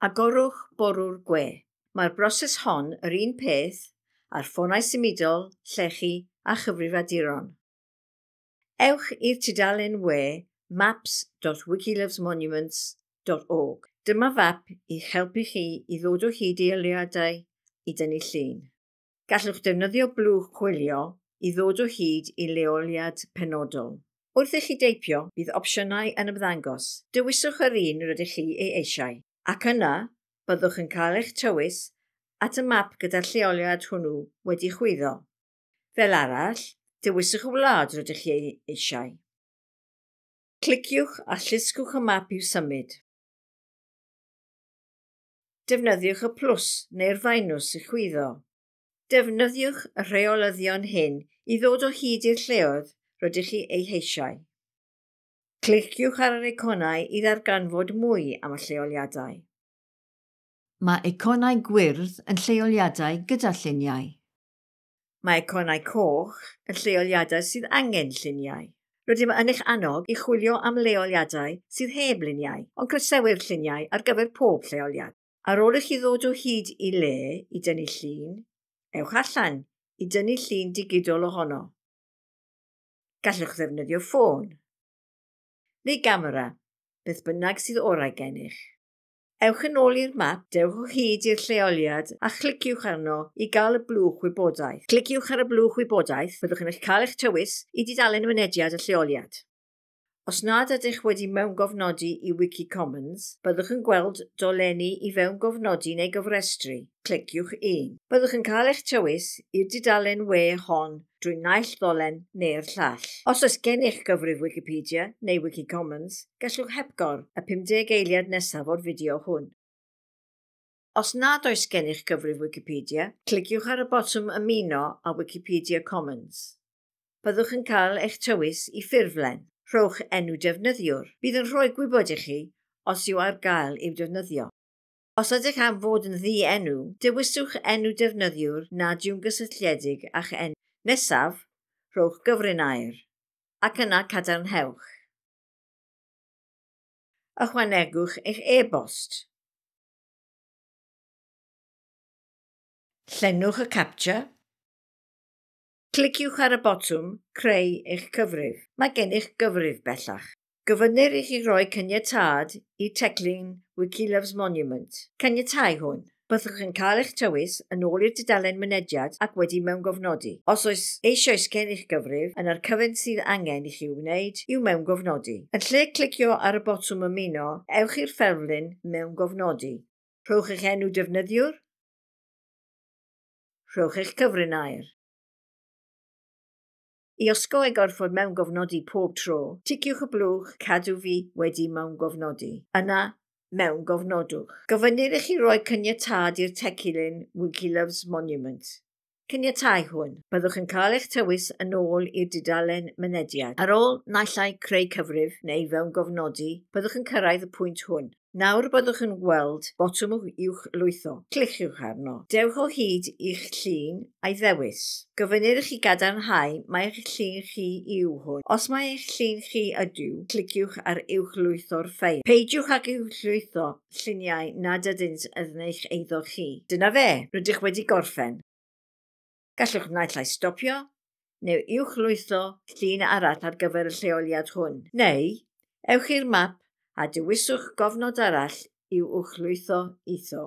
Agorwch borwr gwe. Mae'r broses hon yr un peth ar ffonau symudol, llechi a chyfrifiaduron. Ewch i'r tudalen we maps.wikilovesmonuments.org. Dyma fap i'ch helpu chi i ddod o hyd i leoliadau i dynnu llun. Gallwch defnyddio blwch chwilio i ddod o hyd i leoliad penodol. Wrth i chi deipio, bydd opsiynau yn ymddangos. Dewiswch yr un rydych chi ei eisiau. Ac yna, byddwch yn cael eich tywys at y map gyda'r lleoliad hwnnw wedi chwyddo. Fel arall, dewiswch y wlad rydych chi ei eisiau. Cliciwch a llusgwch y map i'w symud. Defnyddiwch y plws neu'r feinws i chwyddo. Defnyddiwch y rheolyddion hyn i ddod o hyd i'r lleoedd rydych chi eu heisiau. Cliciwch ar yr eiconau i ddarganfod mwy am y lleoliadau. Mae eiconau gwyrdd yn lleoliadau gyda lluniau. Mae eiconau coch yn lleoliadau sydd angen lluniau. Rydym yn eich annog i chwilio am leoliadau sydd heb luniau, ond croesewir lluniau ar gyfer pob lleoliad. Ar ôl i chi ddod o hyd i le i dynnu llun, ewch allan i dynnu llun digidol ohono. Gallwch ddefnyddio ffôn neu gamera, beth bynnag sydd orau gennych. Ewch yn ôl i'r map, dewch o hyd i'r lleoliad a chliciwch arno i gael y blwch wybodaeth. Cliciwch ar y blwch wybodaeth, byddwch yn eich cael eich tywys i dudalen mynediad y lleoliad. Os nad ydych wedi mewngofnodi i Wikicommons, byddwch yn gweld dolenni i fewngofnodi neu gofrestru. Cliciwch un. Byddwch yn cael eich tywys i'r dudalen we hon drwy naill ddolen neu'r llall. Os oes gennych gyfrif Wikipedia neu Wikicommons, gallwch hepgor y 50 eiliad nesaf o'r fideo hwn. Os nad oes gennych gyfrif Wikipedia, cliciwch ar y botwm Ymuno â Wikipedia Commons. Byddwch yn cael eich tywys i ffurflen. Rhowch enw defnyddiwr. Bydd yn rhoi gwybod i chi os yw ar gael i'w defnyddio. Os ydych am fod yn ddi-enw, dewiswch enw defnyddiwr nad yw'n gysylltiedig â'ch enw. Nesaf, rhowch gyfrinair, ac yna cadarnhewch. Ychwanegwch eich e-bost. Llenwch y captcha. Cliciwch ar y botwm Creu eich cyfrif. Mae gennych gyfrif bellach. Gofynnir i chi roi caniatâd i teclyn Wiki Loves Monument. Caniatáu hwn. Byddwch yn cael eich tywys yn ôl i'r dudalen mynediad ac wedi mewngofnodi. Os oes eisoes gennych gyfrif, yna'r cyfan sydd angen i chi wneud yw mewngofnodi. Yn lle clicio ar y botwm ymuno, ewch i'r ffurflen mewngofnodi. Rhowch eich enw defnyddiwr. Rhowch eich cyfrinair. I osgoi gorfod mewngofnodi pob tro, ticiwch y blwch Cadw fi wedi mewngofnodi. Yna, mewngofnodwch. Gofynnir i chi roi caniatâd i'r teclyn Wiki Loves Monument. Caniatáu hwn. Byddwch yn cael eich tywys yn ôl i'r dudalen mynediad. Ar ôl naill ai creu cyfrif neu fewngofnodi, byddwch yn cyrraedd y pwynt hwn. Nawr byddwch yn gweld botwm uwchlwytho. Cliciwch arno. Dewch o hyd i'ch llun a'i ddewis. Gofynnir i chi gadarnhau mai eich llun chi yw hwn. Os mai eich llun chi ydyw, cliciwch ar uwchlwytho'r ffeil. Peidiwch ag uwchlwytho lluniau nad ydynt yn eich eiddo chi. Dyna fe, rydych wedi gorffen. Gallwch naill ai stopio neu uwchlwytho llun arall ar gyfer y lleoliad hwn. Neu, ewch i'r map a dewiswch gofnod arall i'w uwchlwytho iddo.